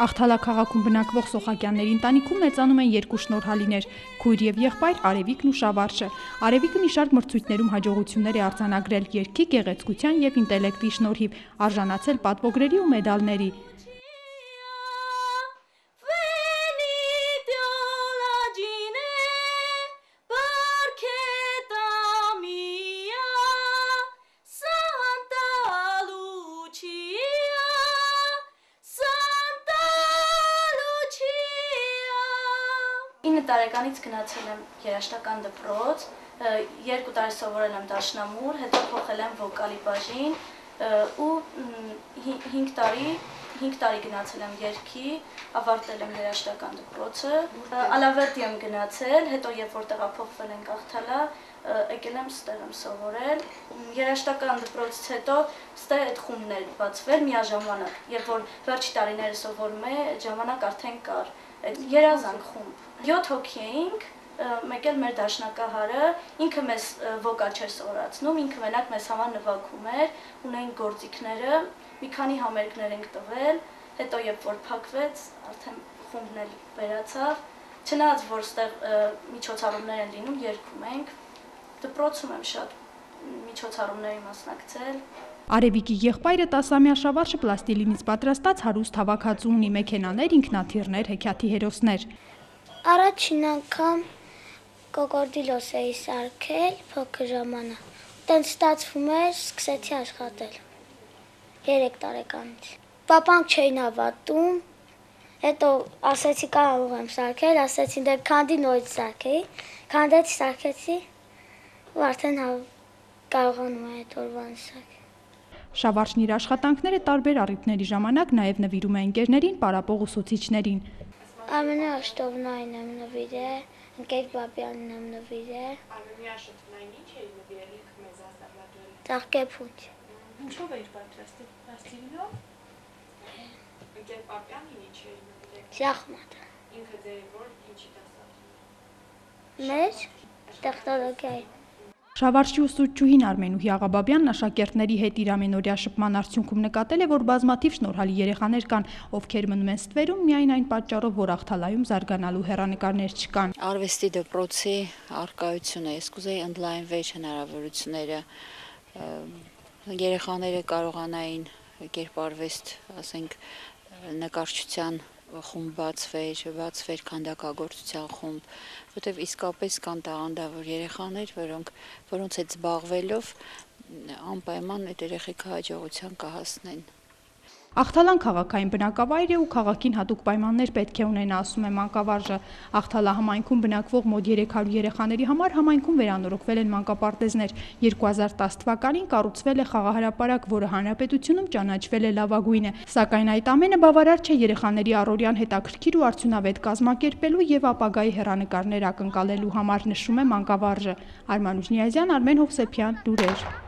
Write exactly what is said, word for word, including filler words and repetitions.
Աղթալա քաղաքում բնակվող Սոխակյանների ընտանիքում մեծանում են երկու շնորհալիներ՝ քույր և եղբայր Արևիկն ու Շավարշը։ Արևիկը մի շարք մրցույթներում հաջողություններ է արձանագրել երգի, գեղեցկության և ինտելեկտի շնորհիվ, արժանացել պատվոգրերի ու մեդալների։ ինը տարեկանից գնացել եմ երաժշտական դպրոց, երկու տարի սովորել եմ դաշնամուր, հետո փոխել եմ վոկալի բաժին ու հինգ տարի հինգ տարի գնացել եմ երգի, ավարտել եմ երաժշտական դպրոցը, Ալավերդի եմ գնացել, հետո երբ որ տեղափոխվել ենք Աղթալա, եկել եմ ստեղ եմ սովորել, երաժշտական դպրոցից հետո ստեղ այդ խումբն էր բացվել միաժամանակ, երբ որ վերջի տարիները սովորում է, այդ ժամանակ արդեն կար երազանք խումբ, յոթ հոգի էինք, մեկ էլ մեր դաշնակահարը, ինքը մեզ վոկալ չէր սովորացնում, ինքը մենակ մեզ համար նվագում էր, ունեինք գործիքները, մի քանի համերգներ ենք տվել, հետո երբ որ փակվեց, արդեն խումբն էլ վերացավ, չնայած որ ստեղ միջոցառումներ են լինում, երգում ենք, դպրոցում եմ շատ միջոցառումների մասնակցել։ Արևիկի եղբայրը տասամյա Շավարշը պլաստիլինից պատրաստած հարուստ հավաքածու ունի մեքենաներ, ինքնաթիռներ, հեքիաթի հերոսներ։ Առաջին անգամ կոկորդիլոս էի սարքել փոքր ժամանակ, տենց ստացվում էր, սկսեցի աշխատել երեք տարեկանից։ Պապանք չէին հավատում, հետո ասեցի կարող եմ սարքել, ասեցին դե քանդի նորից սարքեի, քանդեցի, սարքեցի ու արդեն կարողանում եմ այդ օրվանից սարքել։ Շավարշն իր աշխատանքները տարբեր առիթների ժամանակ նաև նվիրում է ընկերներին, պարապող ուսուցիչներին։ Ամենաշտովնային եմ նվիրել, Ընկեր Բաբյանին եմ նվիրել։ Ամենաշտովնային ինչ էի նվիրել ինքը մեզ ասավատել։ Ծաղկեփունջ։ Ինչով էիր պատրաստել, պլաստիլինով։ Ընկեր Բաբյանին ինչ էի նվիրել։ Շախմատ։ Ինքը ձեր որ ինչի դասավ։ Մեր տեխնոլոգիայի։ Շավարշի ուսուցչուհին Արմենուհի Աղաբաբյանն աշակերտների հետ իր ամենօրյա շփման արդյունքում նկատել է, որ բազմաթիվ շնորհալի երեխաներ կան, ովքեր մնում են ստվերում միայն այն պատճառով, որ Աղթալայում զարգանալու հեռանկարներ չկան։ Արվեստի դպրոցի առկայությունը, ես կուզեի ընդլայնվեր հնարավորությունները, երեխաները կարողանային կերպարվեստ, ասենք, նկարչության խումբ բացվեր, բացվեր քանդակագործության խումբ, որտեղ իսկապես կան տաղանդավոր երեխաներ, որոնք որոնց հետ զբաղվելով անպայման այդ երեխեքը հաջողության կհասնեն։ Աղթալան քաղաքային բնակավայր է ու քաղաքին հատուկ պայմաններ պետք է ունենա, ասում է մանկավարժը։ Աղթալա համայնքում բնակվող մոտ երեք հարյուր երեխաների համար համայնքում վերանորոգվել են մանկապարտեզներ։ երկու հազար տասը թվականին կառուցվել է խաղահրապարակ, որը հանրապետությունում ճանաչվել է լավագույնը։ Սակայն այդ ամենը բավարար չէ երեխաների առօրյան հետաքրքիր ու արդյունավետ կազմակերպելու եւ ապագայի հեռանկարներ ակնկալելու համար, նշում է մանկավարժը։ Արմանուշ Նիազյան, Արմեն Հովսեփյան, լուրեր։